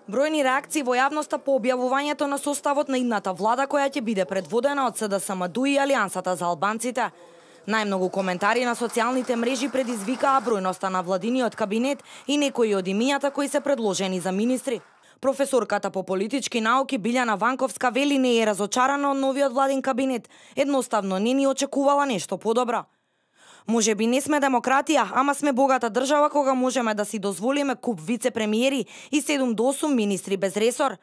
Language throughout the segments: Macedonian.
Бројни реакции во јавноста по објавувањето на составот на идната влада која ќе биде предводена од СДСМ-ДУ и Алијансата за албанците. Најмногу коментари на социјалните мрежи предизвикаа бројноста на владиниот кабинет и некои од имињата кои се предложени за министри. Професорката по политички науки Билјана Ванковска вели не е разочарана од новиот владин кабинет, едноставно не ни очекувала нешто подобро. Може би не сме демократија, ама сме богата држава кога можеме да си дозволиме куп вице-премиери и 7 до 8 министри без ресор.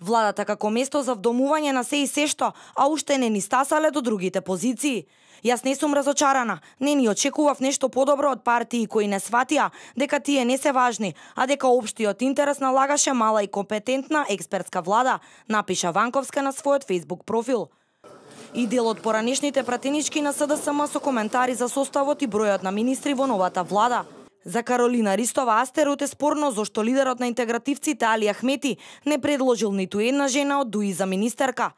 Владата како место за вдомување на се и сешто, а уште не ни стасале до другите позиции. Јас не сум разочарана, не ни очекував нешто подобро од партии кои не сватија дека тие не се важни, а дека општиот интерес налагаше мала и компетентна експертска влада, напиша Ванковска на својот Facebook профил. И дел од поранешните пратенички на СДСМ со коментари за составот и бројот на министри во новата влада. За Каролина Ристова Астерот е спорно зошто лидерот на интегративците Али Ахмети не предложил ниту една жена од ДУИ за министерка.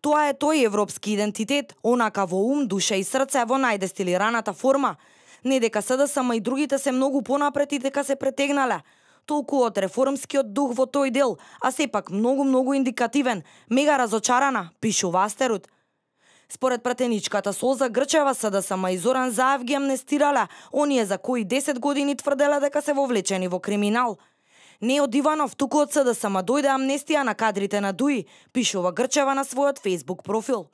Тоа е тој европски идентитет, онака во ум, душа и срце во најдестилираната форма. Не дека СДСМ и другите се многу понапред и дека се претегнале. Толку од реформскиот дух во тој дел, а сепак многу индикативен, мега разочарана, пишува Астерот. Според пратеничката Солза Грчева, СДСМ и Зоран Заев ги амнестирале оние за кои 10 години тврделе дека се вовлечени во криминал. Не од Иванов, туку од СДСМ дојде амнестија на кадрите на ДУИ, пишува Грчева на својот Facebook профил.